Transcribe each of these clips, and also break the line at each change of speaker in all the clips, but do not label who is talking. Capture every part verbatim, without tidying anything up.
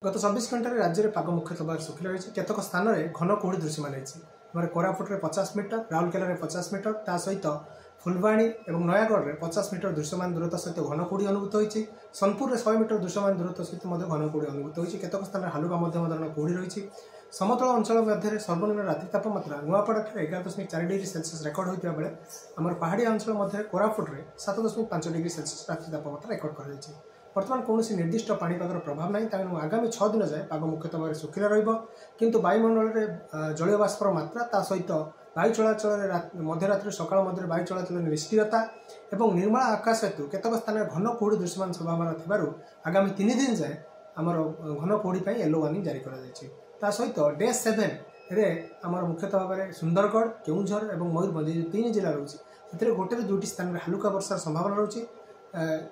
ଗତ ଚବିଶ ଘଣ୍ଟାରେ ରାଜ୍ୟରେ ପାଗ ମୁଖ୍ୟତଃ ଭାବରେ ଶୁଖିଲା ରହିଛି। କେତେକ ସ୍ଥାନରେ ଘନ କୁହୁଡ଼ି ଦୃଶ୍ୟମାନ ହେଇଛି। ଆମର କୋରାପୁଟରେ ପଚାଶ ମିଟର, ରାଉରକେଲାରେ ପଚାଶ ମିଟର, ତା ସହିତ ଫୁଲବାଣୀ ଏବଂ ନୟାଗଡ଼ରେ ପଚାଶ ମିଟର ଦୃଶ୍ୟମାନ ଦୂରତା ସହିତ ଘନ କୁହୁଡ଼ି ଅନୁଭୂତ ହୋଇଛି। ସୋନପୁରରେ ଶହେ ମିଟର ଦୃଶ୍ୟମାନ ଦୂରତା ସହିତ ମଧ୍ୟ ଘନ କୁହୁଡ଼ି ଅନୁଭୂତ ହୋଇଛି। କେତେକ ସ୍ଥାନରେ ହାଲୁକା ମଧ୍ୟମ ଧରଣର କୁହୁଡ଼ି ରହିଛି। ସମତଳ ଅଞ୍ଚଳ ମଧ୍ୟରେ ସର୍ବନିମ୍ନ ରାତ୍ରି ତାପମାତ୍ରା ନୂଆପଡ଼ାଠାରେ ଏଗାର ଦଶମିକ ଚାରି ଡିଗ୍ରୀ ସେଲସିୟସ୍ ରେକର୍ଡ ହୋଇଥିବା ବେଳେ ଆମର ପାହାଡ଼ିଆ ଅଞ୍ଚଳ ମଧ୍ୟରେ କୋରାପୁଟରେ ସାତ ଦଶମିକ ପାଞ୍ଚ ଡିଗ୍ରୀ ସେଲସିୟସ୍ ରାତ୍ରି ତାପମାତ୍ରା ରେକର୍ଡ କରାଯାଇଛି। ବର୍ତ୍ତମାନ କୌଣସି ନିର୍ଦ୍ଦିଷ୍ଟ ପାଣିପାଗର ପ୍ରଭାବ ନାହିଁ, ତେଣୁ ଆଗାମୀ ଛଅ ଦିନ ଯାଏ ପାଗ ମୁଖ୍ୟତଃ ଭାବରେ ଶୁଖିଲା ରହିବ। କିନ୍ତୁ ବାୟୁମଣ୍ଡଳରେ ଜଳୀୟ ବାଷ୍ପର ମାତ୍ରା, ତା ସହିତ ବାୟୁ ଚଳାଚଳରେ ମଧ୍ୟରାତ୍ରି ସକାଳ ମଧ୍ୟରେ ବାୟୁ ଚଳାଚଳରେ ନିଷ୍କ୍ରିୟତା ଏବଂ ନିର୍ମଳ ଆକାଶ ହେତୁ କେତେକ ସ୍ଥାନରେ ଘନ କୁହୁଡ଼ି ଦୃଶ୍ୟମାନ ସମ୍ଭାବନା ଥିବାରୁ ଆଗାମୀ ତିନି ଦିନ ଯାଏ ଆମର ଘନ କୁହୁଡ଼ି ପାଇଁ ୟେଲୋ ୱାର୍ଣ୍ଣିଂ ଜାରି କରାଯାଇଛି। ତା ସହିତ ଡେ ସେଭେନରେ ଆମର ମୁଖ୍ୟତଃ ଭାବରେ ସୁନ୍ଦରଗଡ଼, କେଉଁଝର ଏବଂ ମୟୂରଭଞ୍ଜ ଏ ଯେଉଁ ତିନି ଜିଲ୍ଲା ରହୁଛି, ସେଥିରେ ଗୋଟେରୁ ଦୁଇଟି ସ୍ଥାନରେ ହାଲୁକା ବର୍ଷାର ସମ୍ଭାବନା ରହୁଛି।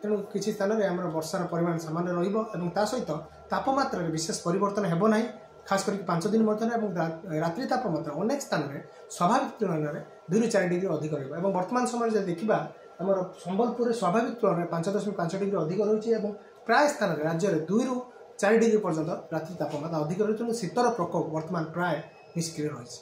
ତେଣୁ କିଛି ସ୍ଥାନରେ ଆମର ବର୍ଷାର ପରିମାଣ ସାମାନ୍ୟ ରହିବ ଏବଂ ତା ସହିତ ତାପମାତ୍ରାରେ ବିଶେଷ ପରିବର୍ତ୍ତନ ହେବ ନାହିଁ, ଖାସ କରିକି ପାଞ୍ଚ ଦିନ ମଧ୍ୟରେ। ଏବଂ ରାତ୍ରି ତାପମାତ୍ରା ଅନେକ ସ୍ଥାନରେ ସ୍ୱାଭାବିକ ତୁଳନାରେ ଦୁଇରୁ ଚାରି ଡିଗ୍ରୀ ଅଧିକ ରହିବ। ଏବଂ ବର୍ତ୍ତମାନ ସମୟରେ ଯଦି ଦେଖିବା, ଆମର ସମ୍ବଲପୁରରେ ସ୍ୱାଭାବିକ ତୁଳନାରେ ପାଞ୍ଚ ଦଶମିକ ପାଞ୍ଚ ଡିଗ୍ରୀ ଅଧିକ ରହୁଛି ଏବଂ ପ୍ରାୟ ସ୍ଥାନରେ ରାଜ୍ୟରେ ଦୁଇରୁ ଚାରି ଡିଗ୍ରୀ ପର୍ଯ୍ୟନ୍ତ ରାତ୍ରି ତାପମାତ୍ରା ଅଧିକ ରହୁଛି। ତେଣୁ ଶୀତର ପ୍ରକୋପ ବର୍ତ୍ତମାନ ପ୍ରାୟ ନିଷ୍କ୍ରିୟ ରହିଛି।